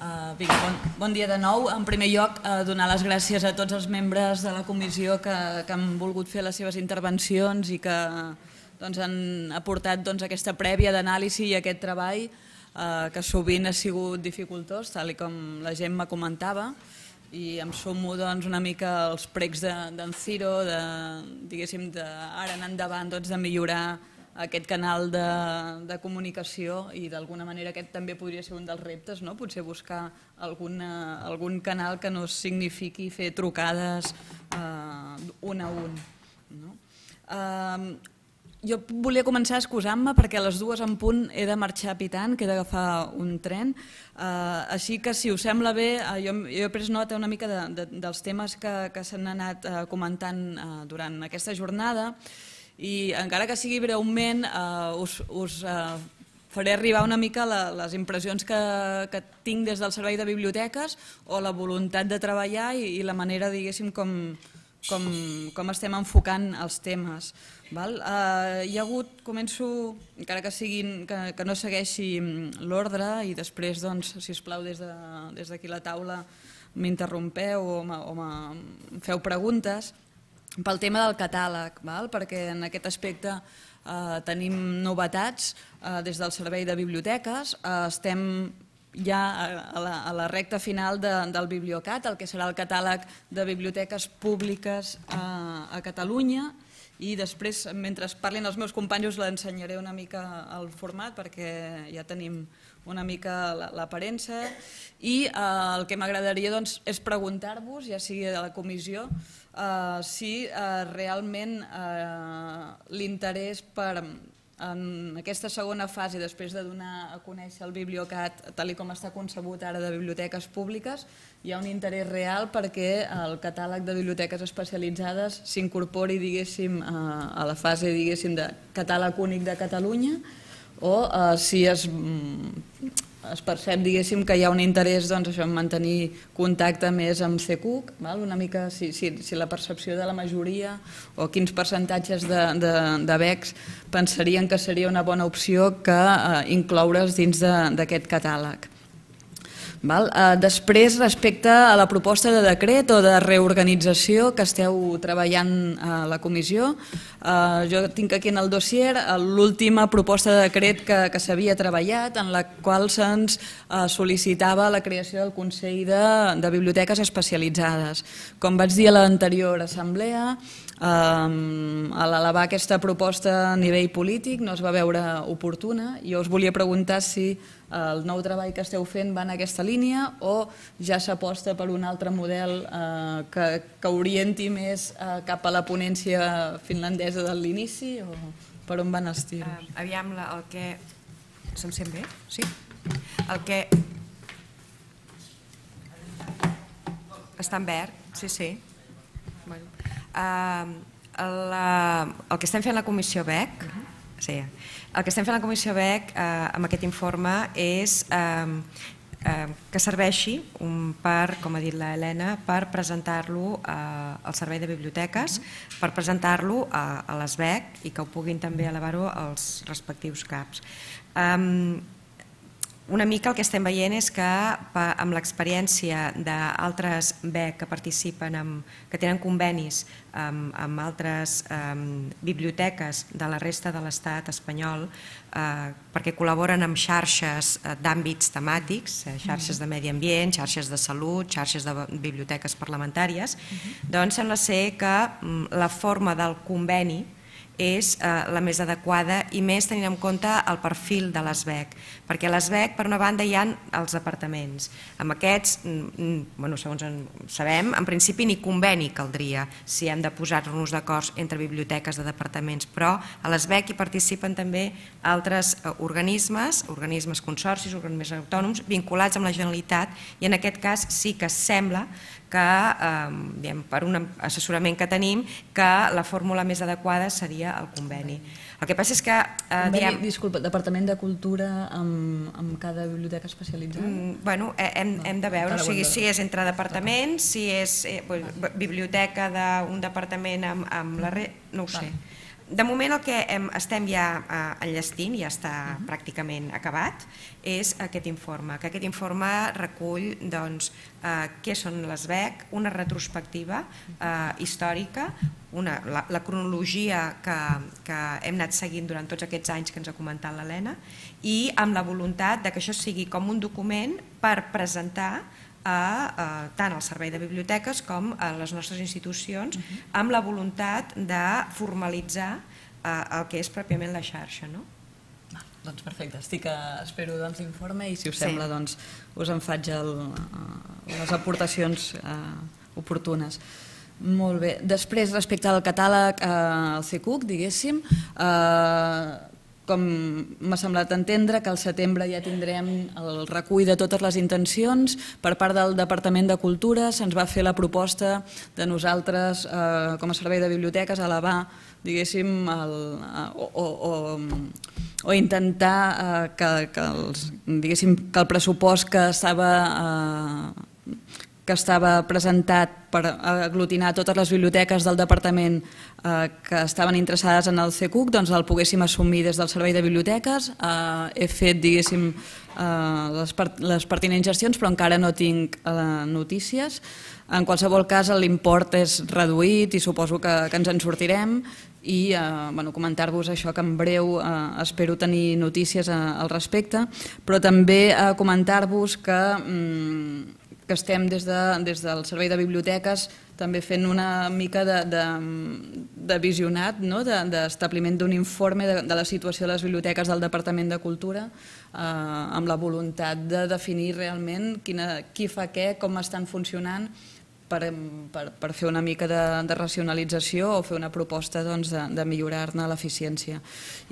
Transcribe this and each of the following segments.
Vinga, bon dia de nou. En primer lloc, donar les gràcies a tots els membres de la comissió que han volgut fer les seves intervencions i que han aportat aquesta prèvia d'anàlisi i aquest treball que sovint ha sigut dificultós, tal com la Gemma comentava, i em sumo una mica als pregs d'en Ciro, diguéssim, d'ara en endavant de millorar aquest canal de comunicació, i d'alguna manera aquest també podria ser un dels reptes, potser buscar algun canal que no signifiqui fer trucades un a un. Jo volia començar excusant-me perquè a les 2 en punt he de marxar pitant, que he d'agafar un tren, així que si us sembla bé, jo he pres nota una mica dels temes que s'han anat comentant durant aquesta jornada, i encara que sigui breument us faré arribar una mica les impressions que tinc des del servei de biblioteques o la voluntat de treballar i la manera, diguéssim, com estem enfocant els temes. Hi ha hagut, començo, encara que no segueixi l'ordre, i després, si us plau, des d'aquí la taula m'interrompeu o em feu preguntes, pel tema del catàleg, perquè en aquest aspecte tenim novetats des del servei de biblioteques. Estem ja a la recta final del Bibliocat, el que serà el catàleg de biblioteques públiques a Catalunya, i després, mentre parlin els meus companys, us l'ensenyaré una mica el format perquè ja tenim una mica l'aparença, i el que m'agradaria és preguntar-vos, ja sigui de la comissió, si realment l'interès per en aquesta segona fase, després de donar a conèixer el Bibliocat tal com està concebut ara de biblioteques públiques, hi ha un interès real perquè el catàleg de biblioteques especialitzades s'incorpori, diguéssim, a la fase, diguéssim, de catàleg únic de Catalunya, o si es percep, diguéssim, que hi ha un interès en mantenir contacte més amb CECUC, una mica si la percepció de la majoria o quins percentatges de BECs pensarien que seria una bona opció que incloure's dins d'aquest catàleg. Després, respecte a la proposta de decret o de reorganització que esteu treballant a la comissió, jo tinc aquí en el dossier l'última proposta de decret que s'havia treballat, en la qual se'ns sol·licitava la creació del Consell de Biblioteques Especialitzades. Com vaig dir a l'anterior assemblea, a l'elevar aquesta proposta a nivell polític no es va veure oportuna. Jo us volia preguntar si el nou treball que esteu fent va en aquesta línia o ja s'aposta per un altre model que orienti més cap a la ponència finlandesa de l'inici, o per on van els tiros? Aviam, el que... Se'm sent bé? Sí? El que... Està en verd? Sí, sí. El que estem fent a la Comissió BEC, el que estem fent a la Comissió BEC amb aquest informe és que serveixi, com ha dit l'Helena, per presentar-lo al Servei de Biblioteques, per presentar-lo a les BEC i que ho puguin també elevar-ho als respectius CAPs. Una mica el que estem veient és que amb l'experiència d'altres BEC que participen, que tenen convenis amb altres biblioteques de la resta de l'estat espanyol, perquè col·laboren amb xarxes d'àmbits temàtics, xarxes de medi ambient, xarxes de salut, xarxes de biblioteques parlamentàries, doncs sembla ser que la forma del conveni és la més adequada, i més tenint en compte el perfil de les BEC, perquè a les BEC, per una banda, hi ha els departaments. Amb aquests, segons sabem, en principi ni conveni caldria si hem de posar-nos d'acord entre biblioteques de departaments, però a les BEC hi participen també altres organismes, consorcis, organismes autònoms vinculats amb la Generalitat, i en aquest cas sí que sembla que, per un assessorament que tenim, que la fórmula més adequada seria el conveni. El que passa és que... Disculpa, Departament de Cultura amb cada biblioteca especialitzada? Bé, hem de veure, si és entre departaments, si és biblioteca d'un departament amb la resta, no ho sé. De moment el que estem ja enllestint, ja està pràcticament acabat, és aquest informe, que aquest informe recull què són les BEC, una retrospectiva històrica, la cronologia que hem anat seguint durant tots aquests anys que ens ha comentat l'Helena, i amb la voluntat que això sigui com un document per presentar tant al Servei de Biblioteques com a les nostres institucions, amb la voluntat de formalitzar el que és pròpiament la xarxa. Doncs perfecte, espero l'informe i si us sembla us en faig les aportacions oportunes. Molt bé, després respecte al catàleg, al CECUC, diguéssim, com m'ha semblat entendre que al setembre ja tindrem el recull de totes les intencions. Per part del Departament de Cultura se'ns va fer la proposta de nosaltres, com a servei de biblioteques, elevar, diguéssim, o intentar que el pressupost que estava presentat per aglutinar totes les biblioteques del departament que estaven interessades en el CECUC, doncs el poguéssim assumir des del Servei de Biblioteques. He fet, diguéssim, les pertinents gestions, però encara no tinc notícies. En qualsevol cas, l'import és reduït i suposo que ens en sortirem, i comentar-vos això, que en breu espero tenir notícies al respecte, però també comentar-vos que estem des del Servei de Biblioteques també fent una mica de visionat, d'establiment d'un informe de la situació de les biblioteques del Departament de Cultura, amb la voluntat de definir realment qui fa què, com estan funcionant, per fer una mica de racionalització o fer una proposta de millorar-ne l'eficiència.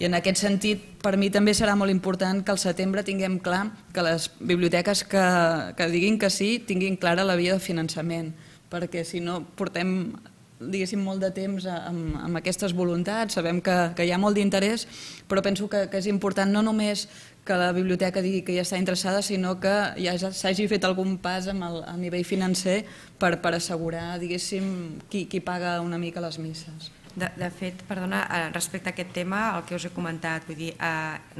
I en aquest sentit, per mi també serà molt important que al setembre tinguem clar que les biblioteques que diguin que sí tinguin clara la via de finançament, perquè si no portem, diguéssim, molt de temps amb aquestes voluntats, sabem que hi ha molt d'interès, però penso que és important no només que la biblioteca digui que ja està interessada, sinó que ja s'hagi fet algun pas a nivell financer per assegurar, diguéssim, qui paga una mica les misses. De fet, perdona, respecte a aquest tema, el que us he comentat, vull dir,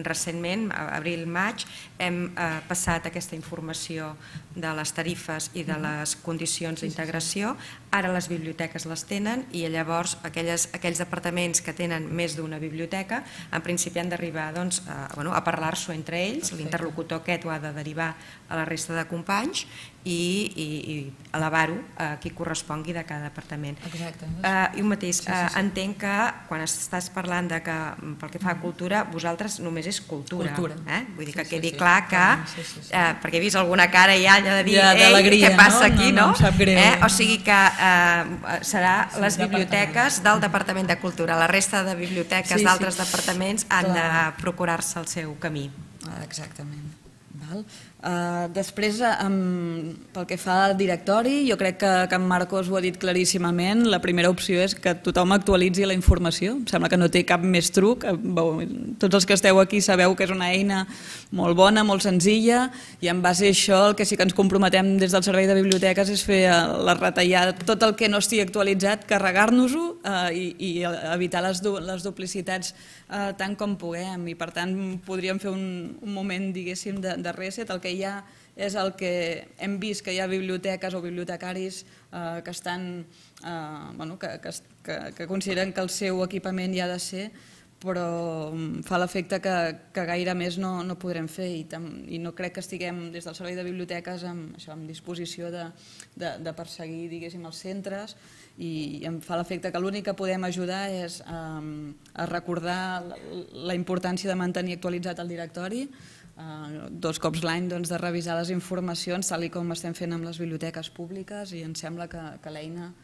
recentment, abril-maig, hem passat aquesta informació de les tarifes i de les condicions d'integració. Ara les biblioteques les tenen i llavors aquells departaments que tenen més d'una biblioteca en principi han d'arribar a parlar-s'ho entre ells, l'interlocutor aquest ho ha de derivar a la resta de companys i elevar-ho a qui correspongui de cada departament. I un mateix, entenc que quan estàs parlant que pel que fa a cultura, vosaltres només és cultura. Vull dir que quedi clar que, perquè he vist alguna cara ja de dir, ei, què passa aquí, no? O sigui que serà les biblioteques del Departament de Cultura. La resta de biblioteques d'altres departaments han de procurar-se el seu camí. Exactament. Després, pel que fa al directori, jo crec que en Marcos ho ha dit claríssimament. La primera opció és que tothom actualitzi la informació. Em sembla que no té cap més truc. Tots els que esteu aquí sabeu que és una eina molt bona, molt senzilla, i en base a això el que sí que ens comprometem des del Servei de Biblioteques és fer la retallada, tot el que no estigui actualitzat, carregar-nos-ho i evitar les duplicitats tant com puguem. I per tant podríem fer un moment, diguéssim, de reset. El que hi ha és el que hem vist, que hi ha biblioteques o bibliotecaris que consideren que el seu equipament hi ha de ser, però fa l'efecte que gaire més no podrem fer, i no crec que estiguem des del Servei de Biblioteques amb disposició de perseguir, diguéssim, els centres, i em fa l'efecte que l'únic que podem ajudar és a recordar la importància de mantenir actualitzat el directori, 2 cops l'any de revisar les informacions tal com estem fent amb les biblioteques públiques, i em sembla que l'eina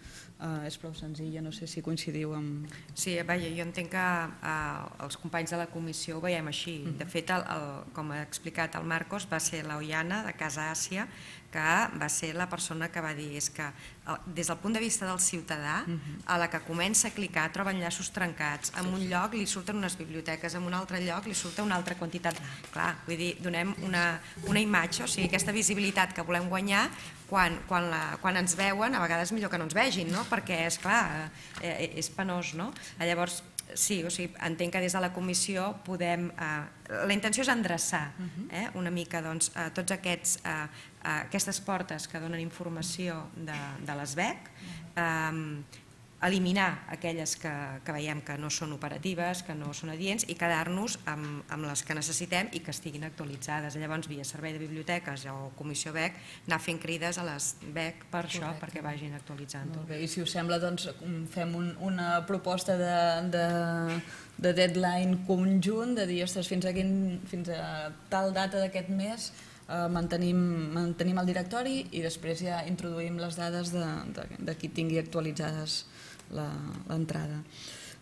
és prou senzilla. No sé si coincidiu amb... Sí, vaja, jo entenc que els companys de la comissió ho veiem així. De fet, com ha explicat el Marcos, va ser l'Oiana de Casa Àsia que va ser la persona que va dir és que des del punt de vista del ciutadà, a la que comença a clicar troba enllaços trencats, en un lloc li surten unes biblioteques, en un altre lloc li surta una altra quantitat. Clar, vull dir, donem una imatge, o sigui, aquesta visibilitat que volem guanyar, quan ens veuen, a vegades millor que no ens vegin, perquè, esclar, és penós, no? Llavors, sí, o sigui, entenc que des de la comissió podem... La intenció és endreçar una mica tots aquestes portes que donen informació de l'ESVEC, eliminar aquelles que veiem que no són operatives, que no són adients, i quedar-nos amb les que necessitem i que estiguin actualitzades. Llavors, via Servei de Biblioteques o Comissió BEC, anar fent crides a les BEC per això, perquè vagin actualitzant-ho. I si us sembla, doncs fem una proposta de deadline conjunt, de dir, ostres, fins a tal data d'aquest mes mantenim el directori i després ja introduïm les dades de qui tingui actualitzades l'entrada.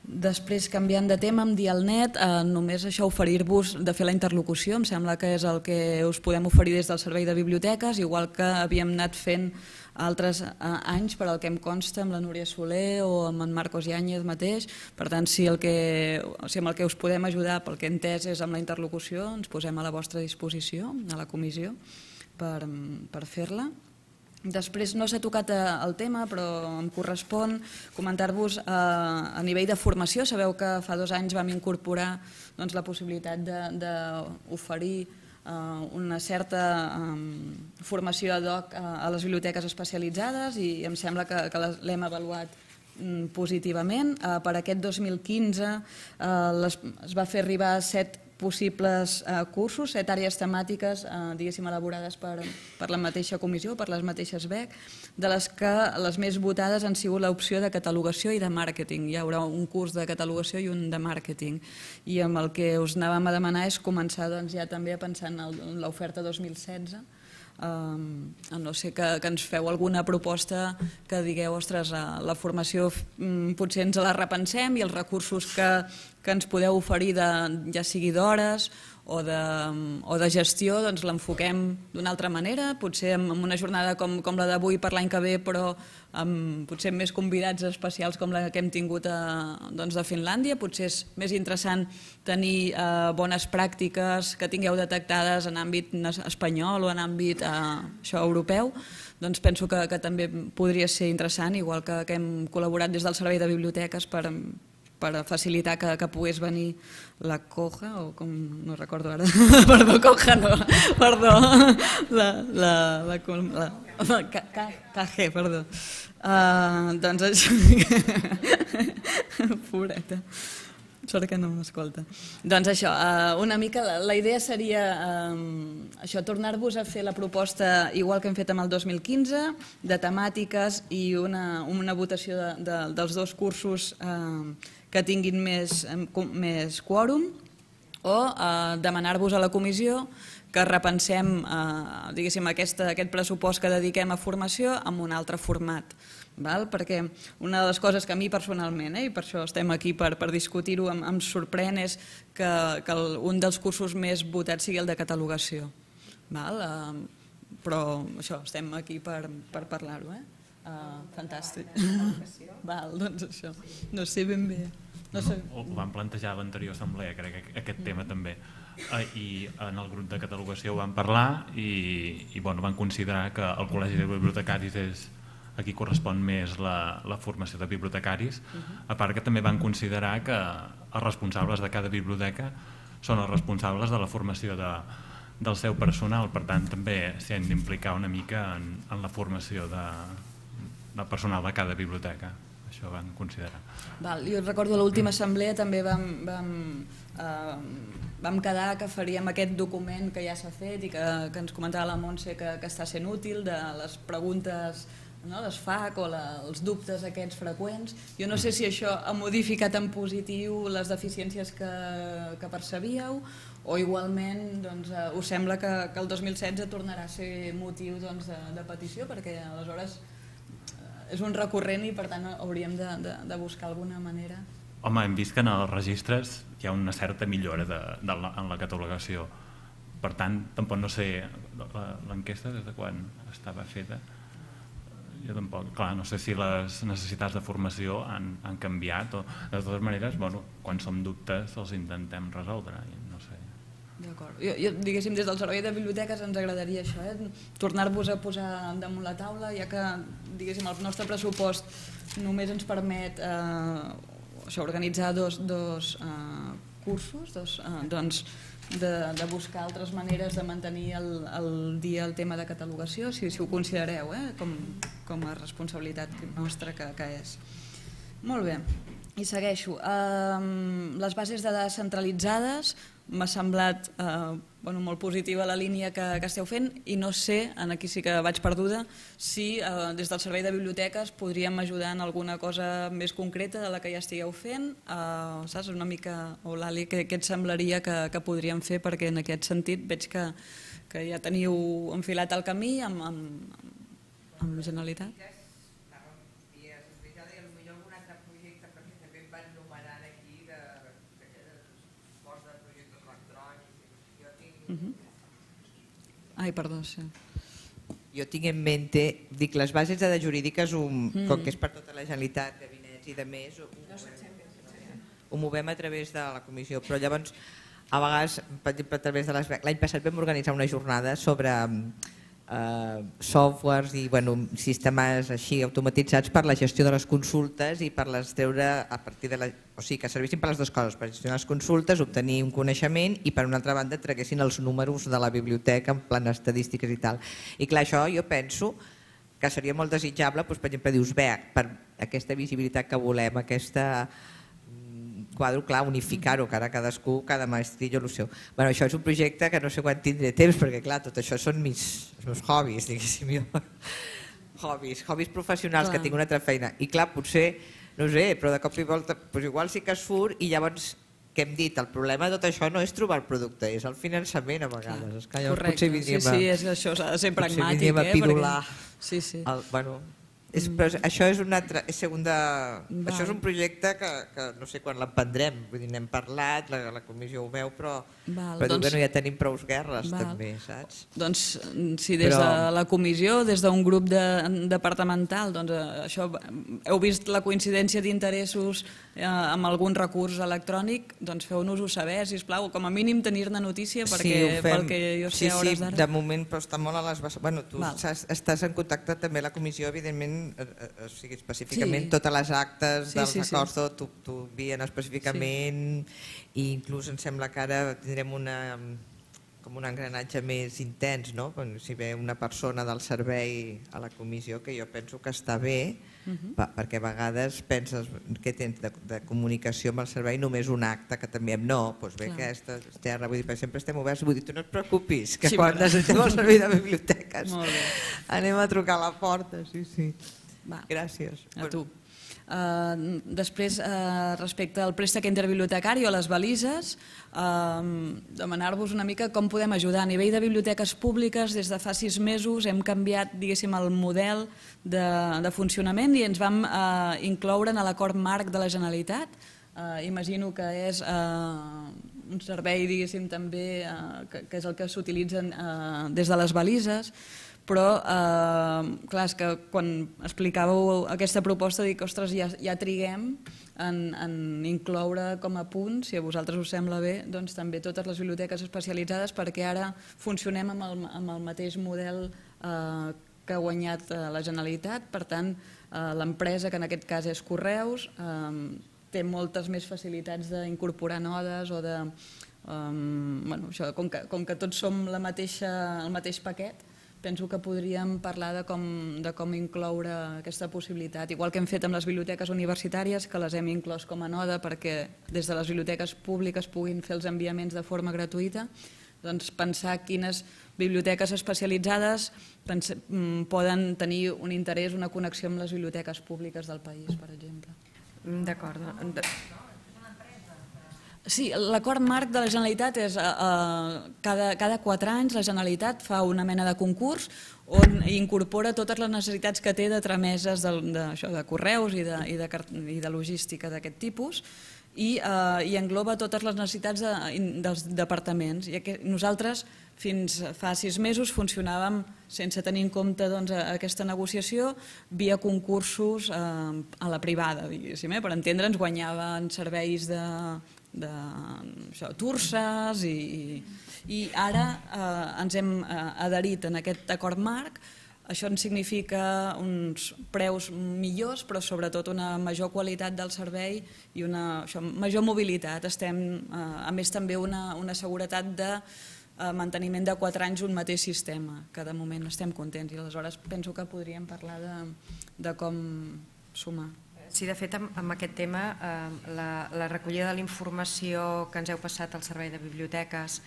Després, canviant de tema, em Dialnet, només això, oferir-vos de fer la interlocució, em sembla que és el que us podem oferir des del Servei de Biblioteques, igual que havíem anat fent altres anys, per al que em consta, amb la Núria Soler o amb en Marcos Yáñez mateix. Per tant, si amb el que us podem ajudar, pel que he entès, és amb la interlocució, ens posem a la vostra disposició, a la comissió, per fer-la. Després, no s'ha tocat el tema, però em correspon comentar-vos a nivell de formació. Sabeu que fa 2 anys vam incorporar la possibilitat d'oferir una certa formació ad hoc a les biblioteques especialitzades i em sembla que l'hem avaluat positivament. Per aquest 2015 es va fer arribar 7 possibles cursos, 7 àrees temàtiques, diguéssim, elaborades per la mateixa comissió, per les mateixes BEC, de les que les més votades han sigut l'opció de catalogació i de màrqueting. Hi haurà un curs de catalogació i un de màrqueting. I amb el que us anàvem a demanar és començar ja també a pensar en l'oferta 2016, a no ser que ens feu alguna proposta que digueu, ostres, la formació potser ens la repensem i els recursos que ens podeu oferir, ja sigui d'hores o de gestió, doncs l'enfoquem d'una altra manera, potser amb una jornada com la d'avui per l'any que ve, però potser amb més convidats especials com la que hem tingut de Finlàndia. Potser és més interessant tenir bones pràctiques que tingueu detectades en àmbit espanyol o en àmbit europeu. Doncs penso que també podria ser interessant, igual que hem col·laborat des del Servei de Biblioteques per facilitar que pogués venir la Coja, o com no recordo ara, perdó, Coja no, perdó, la KG, perdó. Doncs això, pobreta, sort que no m'escolta. Doncs això, una mica la idea seria tornar-vos a fer la proposta igual que hem fet amb el 2015, de temàtiques i una votació dels 2 cursos que tinguin més quòrum, o demanar-vos a la comissió que repensem aquest pressupost que dediquem a formació amb un altre format. Perquè una de les coses que a mi personalment, i per això estem aquí per discutir-ho, em sorprèn és que un dels cursos més votats sigui el de catalogació. Però això, estem aquí per parlar-ho. Fantàstic. Doncs això, no sé ben bé. Ho vam plantejar a l'anterior assemblea, crec, aquest tema també, i en el grup de catalogació ho vam parlar i van considerar que el Col·legi de Bibliotecaris és a qui correspon més la formació de bibliotecaris, a part que també van considerar que els responsables de cada biblioteca són els responsables de la formació del seu personal, per tant també s'hi han d'implicar una mica en la formació del personal de cada biblioteca. Això van considerar. Jo recordo a l'última assemblea també vam quedar que faríem aquest document que ja s'ha fet i que ens comentava la Montse que està sent útil, de les preguntes, les FAQ o els dubtes aquests freqüents. Jo no sé si això ha modificat en positiu les deficiències que percebíeu o igualment us sembla que el 2016 tornarà a ser motiu de petició, perquè aleshores és un recurrent i per tant hauríem de buscar alguna manera. Home, hem vist que en els registres hi ha una certa millora en la catalogació, per tant, tampoc no sé l'enquesta des de quan estava feta. Jo tampoc, clar, no sé si les necessitats de formació han canviat o de totes maneres, quan som dubtes els intentem resoldre, no sé. D'acord. Jo, diguéssim, des del servei de biblioteques ens agradaria això, tornar-vos a posar damunt la taula, ja que, diguéssim, el nostre pressupost només ens permet organitzar dos cursos, doncs de buscar altres maneres de mantenir al dia el tema de catalogació, si ho considereu com a responsabilitat nostra que és. Molt bé, i segueixo. Les bases de dades centralitzades m'ha semblat molt positiva la línia que esteu fent i no sé, aquí sí que vaig perduda, si des del servei de biblioteques podríem ajudar en alguna cosa més concreta de la que ja estigueu fent, saps, una mica, o l'Ali, què et semblaria que podríem fer, perquè en aquest sentit veig que ja teniu enfilat el camí amb la Generalitat. Ai, perdó, sí. Jo tinc en mente, dic, les bases de dades jurídiques, com que és per tota la Generalitat, gabinets i de més, ho movem a través de la comissió, però llavors, a vegades, per exemple, a través de l'any passat vam organitzar una jornada sobre softwares i sistemes així automatitzats per la gestió de les consultes i per les treure a partir de o sigui, que servissin per les dues coses, per gestionar les consultes, obtenir un coneixement i per una altra banda traguessin els números de la biblioteca en plan estadístiques i tal. I clar, això jo penso que seria molt desitjable, per exemple, dius, bé, per aquesta visibilitat que volem, aquesta quadre, clar, unificar-ho, que ara cadascú, cada maestrillo, el seu. Això és un projecte que no sé quan tindré temps, perquè clar, tot això són els meus hobbies, diguéssim jo. Hobbies professionals, que tinc una altra feina. I clar, potser, no sé, però de cop i volta, igual sí que es surt i llavors, que hem dit, el problema de tot això no és trobar el producte, és el finançament a vegades. Correcte, sí, això s'ha de ser pragmàtic. Potser vindríem a pidolar. Sí, sí. Però això és una altra, això és un projecte que no sé quan l'emprendrem, vull dir, n'hem parlat, la comissió ho veu, però ja tenim prou guerres també, saps? Doncs si des de la comissió, des d'un grup departamental, doncs això, heu vist la coincidència d'interessos amb algun recurs electrònic, doncs feu-nos-ho saber, sisplau, com a mínim tenir-ne notícia, perquè pel que jo sé a hores d'ara... Sí, de moment, però està molt a les bases. Bueno, tu estàs en contacte també a la comissió, evidentment, o sigui, específicament totes les actes dels acords t'ho envien específicament i inclús em sembla que ara tindrem com un engranatge més intens, no? Si ve una persona del servei a la comissió, que jo penso que està bé, perquè a vegades penses que tens de comunicació amb el servei només un acte, que també no, doncs bé, aquesta terra, vull dir, per sempre estem oberts, vull dir, tu no et preocupis, que quan necessitem el servei de biblioteques anem a trucar a la porta, sí. Gràcies. A tu. Després, respecte al préstec interbibliotecari o a les balises, demanar-vos una mica com podem ajudar. A nivell de biblioteques públiques, des de fa 6 mesos hem canviat, diguéssim, el model de funcionament i ens vam incloure en l'acord marc de la Generalitat. Imagino que és un servei, diguéssim, també, que és el que s'utilitza des de les balises, però, clar, és que quan explicàveu aquesta proposta dic, ostres, ja triguem en incloure com a punt, si a vosaltres us sembla bé, doncs també totes les biblioteques especialitzades, perquè ara funcionem amb el mateix model que ha guanyat la Generalitat. Per tant, l'empresa, que en aquest cas és Correus, té moltes més facilitats d'incorporar nodes o de... Com que tots som el mateix paquet, penso que podríem parlar de com incloure aquesta possibilitat. Igual que hem fet amb les biblioteques universitàries, que les hem inclòs com a node perquè des de les biblioteques públiques puguin fer els enviaments de forma gratuïta, doncs pensar quines biblioteques especialitzades poden tenir un interès, una connexió amb les biblioteques públiques del país, per exemple. D'acord. Sí, l'acord marc de la Generalitat és cada 4 anys la Generalitat fa una mena de concurs on incorpora totes les necessitats que té de trameses de correus i de logística d'aquest tipus i engloba totes les necessitats dels departaments. I nosaltres fins fa 6 mesos funcionàvem sense tenir en compte aquesta negociació via concursos a la privada, diguéssim. Per entendre'ns, guanyaven serveis de Turses i ara ens hem adherit en aquest acord marc. Això ens significa uns preus millors, però sobretot una major qualitat del servei i una major mobilitat. A més, també una seguretat de manteniment de 4 anys un mateix sistema, que de moment estem contents i aleshores penso que podríem parlar de com sumar. Sí, de fet, amb aquest tema, la recollida de la informació que ens heu passat al Servei de Biblioteques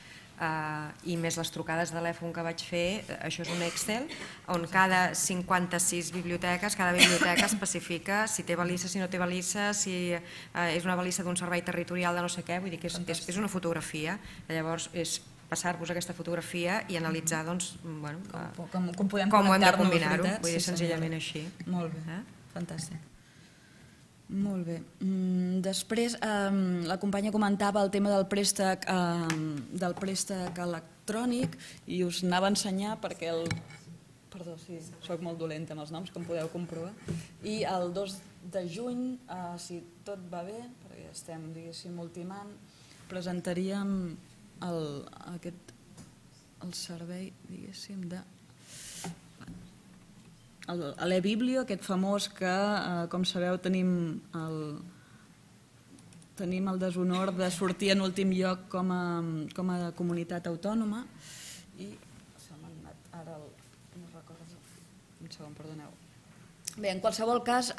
i més les trucades de telèfon que vaig fer, això és un Excel on cada 56 biblioteques, cada biblioteca especifica si té balissa, si no té balissa, si és una balissa d'un servei territorial de no sé què, vull dir que és una fotografia. Llavors és passar-vos aquesta fotografia i analitzar com ho hem de combinar-ho, vull dir senzillament així. Molt bé, fantàstic. Molt bé. Després la companya comentava el tema del préstec electrònic i us anava a ensenyar perquè perdó, sí, soc molt dolenta amb els noms, com podeu comprovar, i el 2 de juny, si tot va bé, perquè estem, diguéssim, ultimant, presentaríem el servei, diguéssim, de l'e-biblio, aquest famós que, com sabeu, tenim el deshonor de sortir en últim lloc com a comunitat autònoma i se m'ha anat ara no recordo, un segon, perdoneu. Bé, en qualsevol cas,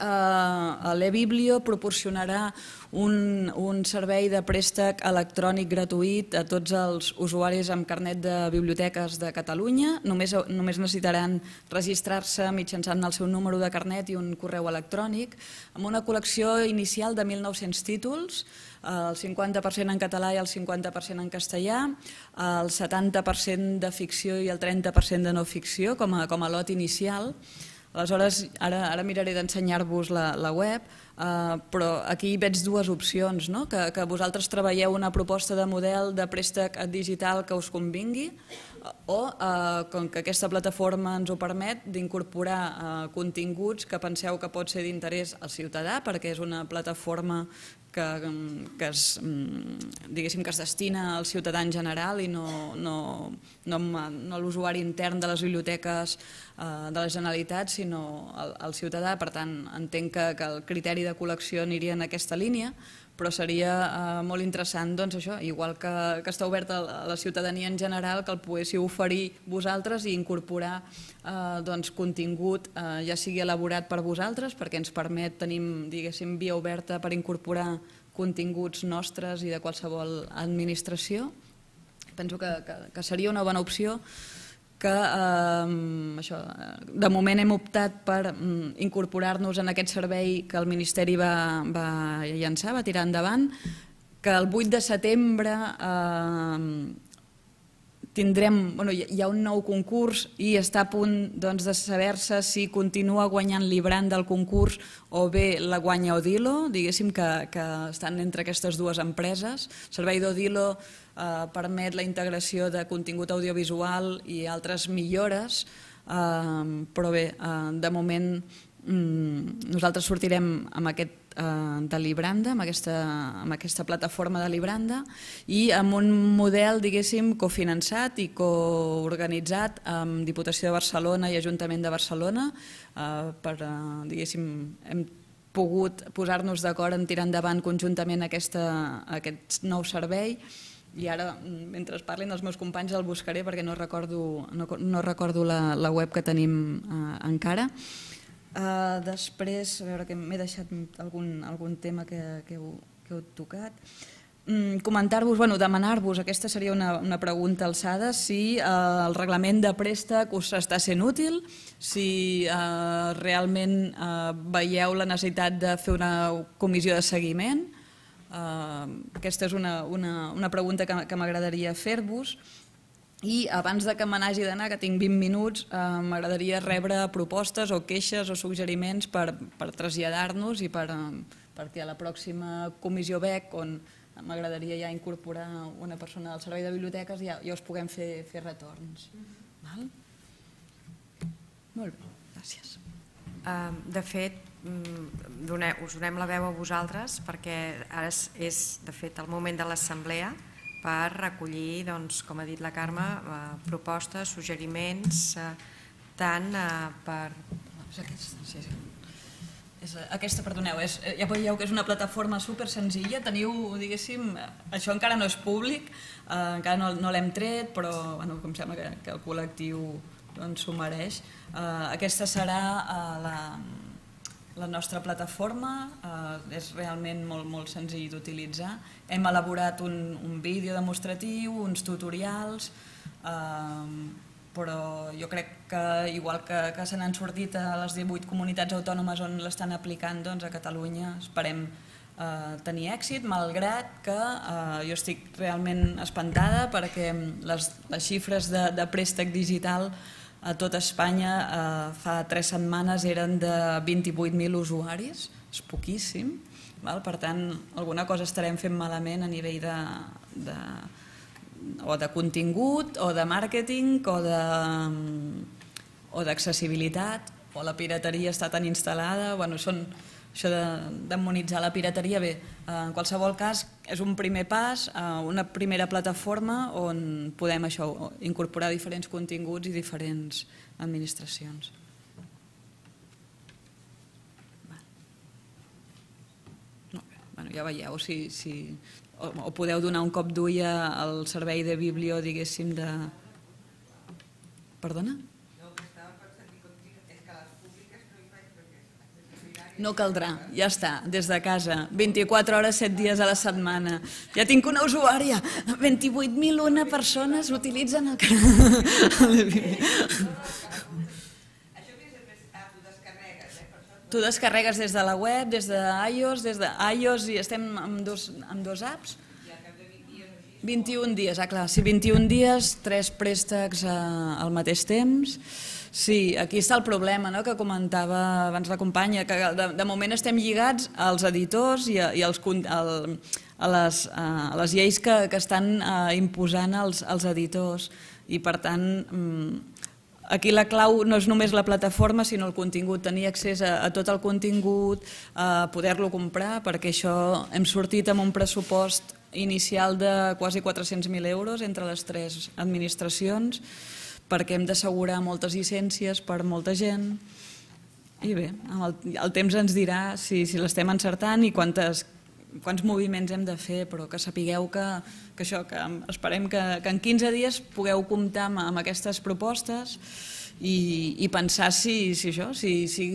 l'e-biblio proporcionarà un servei de préstec electrònic gratuït a tots els usuaris amb carnet de biblioteques de Catalunya. Només necessitaran registrar-se mitjançant el seu número de carnet i un correu electrònic, amb una col·lecció inicial de 1.900 títols, el 50% en català i el 50% en castellà, el 70% de ficció i el 30% de no ficció com a lot inicial. Aleshores, ara miraré d'ensenyar-vos la web, però aquí veig dues opcions, que vosaltres treballeu una proposta de model de préstec digital que us convingui o, com que aquesta plataforma ens ho permet, d'incorporar continguts que penseu que pot ser d'interès al ciutadà, perquè és una plataforma que es destina al ciutadà en general i no a l'usuari intern de les biblioteques de la Generalitat, sinó al ciutadà. Per tant, entenc que el criteri de col·lecció aniria en aquesta línia, però seria molt interessant, igual que està obert a la ciutadania en general, que el poguéssiu oferir vosaltres i incorporar contingut ja sigui elaborat per vosaltres, perquè ens permet, tenim via oberta per incorporar continguts nostres i de qualsevol administració. Penso que seria una bona opció, que de moment hem optat per incorporar-nos en aquest servei que el Ministeri va llançar, va tirar endavant, que el 8 de setembre hi ha un nou concurs i està a punt de saber-se si continua guanyant Librand del concurs o bé la guanya Odilo, diguéssim que estan entre aquestes dues empreses. El servei d'Odilo permet la integració de contingut audiovisual i altres millores, però bé, de moment nosaltres sortirem amb aquest de Libranda, amb aquesta plataforma de Libranda i amb un model, diguéssim, cofinançat i coorganitzat amb Diputació de Barcelona i Ajuntament de Barcelona. Hem pogut posar-nos d'acord en tirar endavant conjuntament aquest nou servei i ara, mentre parlin els meus companys, el buscaré perquè no recordo la web que tenim encara. Després, a veure que m'he deixat algun tema que heu tocat. Comentar-vos, demanar-vos, aquesta seria una pregunta alçada, si el reglament de préstec us està sent útil, si realment veieu la necessitat de fer una comissió de seguiment. Aquesta és una pregunta que m'agradaria fer-vos. I abans que me n'hagi d'anar, que tinc 20 minuts, m'agradaria rebre propostes o queixes o suggeriments per traslladar-nos i per perquè a la pròxima comissió BEC, on m'agradaria ja incorporar una persona del servei de biblioteques, ja us puguem fer retorns. Molt bé, gràcies. De fet, us donem la veu a vosaltres perquè ara és de fet el moment de l'assemblea per recollir, com ha dit la Carme, propostes, suggeriments, tant per... Aquesta, perdoneu, ja veieu que és una plataforma super senzilla, teniu, diguéssim, això encara no és públic, encara no l'hem tret, però em sembla que el col·lectiu s'ho mereix. Aquesta serà la nostra plataforma, és realment molt senzill d'utilitzar. Hem elaborat un vídeo demostratiu, uns tutorials, però jo crec que igual que se n'han sortit a les 18 comunitats autònomes on l'estan aplicant, doncs a Catalunya esperem tenir èxit, malgrat que jo estic realment espantada perquè les xifres de préstec digital a tot Espanya fa 3 setmanes eren de 28.000 usuaris, és poquíssim, per tant alguna cosa estarem fent malament a nivell o de contingut, o de màrqueting, o d'accessibilitat, o la pirateria està tan instal·lada, això de demonitzar la pirateria, bé, en qualsevol cas és un primer pas, una primera plataforma on podem incorporar diferents continguts i diferents administracions. Ja veieu, o podeu donar un cop d'ull al servei de biblio, diguéssim, de... Perdona? No caldrà, ja està, des de casa, 24 hores, 7 dies a la setmana. Ja tinc una usuària, 28.001 persones utilitzen el canal. Tu descarregues des de la web, des d'iOS, i estem amb dos apps. 21 dies, clar, sí, 21 dies, 3 préstecs al mateix temps. Sí, aquí està el problema que comentava abans la companya, que de moment estem lligats als editors i a les lleis que estan imposant els editors, i per tant aquí la clau no és només la plataforma sinó el contingut, tenir accés a tot el contingut, poder-lo comprar, perquè això hem sortit amb un pressupost inicial de quasi 400.000 euros entre les 3 administracions, perquè hem d'assegurar moltes llicències per molta gent, i bé, el temps ens dirà si l'estem encertant i quants moviments hem de fer, però que sapigueu que esperem que en 15 dies pugueu comptar amb aquestes propostes i pensar si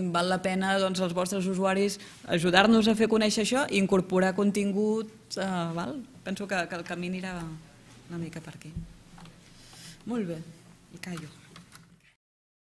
val la pena als vostres usuaris ajudar-nos a fer conèixer això i incorporar contingut. Penso que el camí anirà una mica per aquí. Molt bé. I callo.